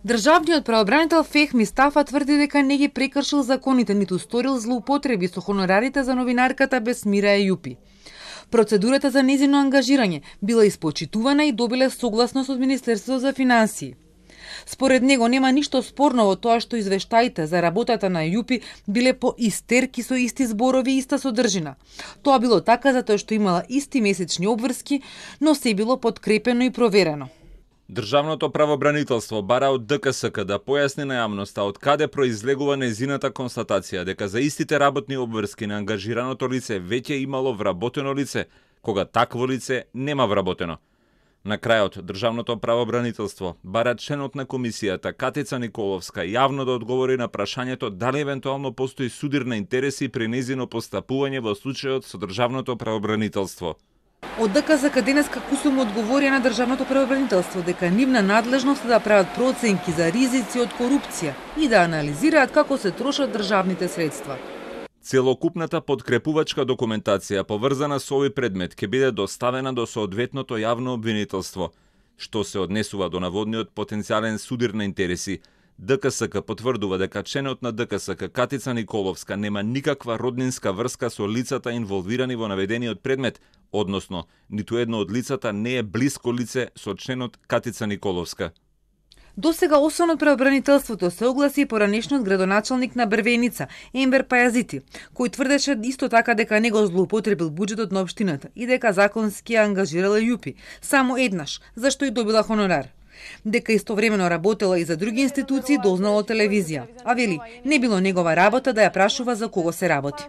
Државниот правобранител Фехми Стафа тврди дека не ги прекршил законите, ниту сторил злоупотреби со хонорарите за новинарката Бесмира Ејупи. Процедурата за нејзино ангажирање била испочитувана и добиле согласност од Министерството за финансии. Според него нема ништо спорно во тоа што извештаите за работата на Ејупи биле по истерки со исти зборови и иста содржина. Тоа било така затоа што имала исти месечни обврски, но се било подкрепено и проверено. Државното правобранителство бара од ДКСК да појасни на јавноста од каде произлегува нејзината констатација дека за истите работни обврски на ангажираното лице веќе имало вработено лице, кога такво лице нема вработено. На крајот, Државното правобранителство бара членот на комисијата Катица Николовска јавно да одговори на прашањето дали евентуално постои судир на интереси при нејзино постапување во случајот со Државното правобранителство. Од ДКСК денеска кусум одговори на Државното правобранителство дека нивна надлежност е да прават проценки за ризици од корупција и да анализираат како се трошат државните средства. Целокупната подкрепувачка документација поврзана со овој предмет ќе биде доставена до соодветното јавно обвинителство. Што се однесува до наводниот потенцијален судир на интереси, ДКСК потврдува дека членот на ДКСК Катица Николовска нема никаква роднинска врска со лицата инволвирани во наведениот предмет, односно, ниту едно од лицата не е блиско лице со членот Катица Николовска. Досега освен од правобранителството се огласи и поранешниот градоначалник на Брвеница, Ембер Пајазити, кој тврдеше исто така дека не го злоупотребил буџетот на општината и дека законски ја ангажирала Ејупи само еднаш, зашто и добила хонорар. Дека истовремено работела и за други институции дознала телевизија, а вели не било негова работа да ја прашува за кого се работи.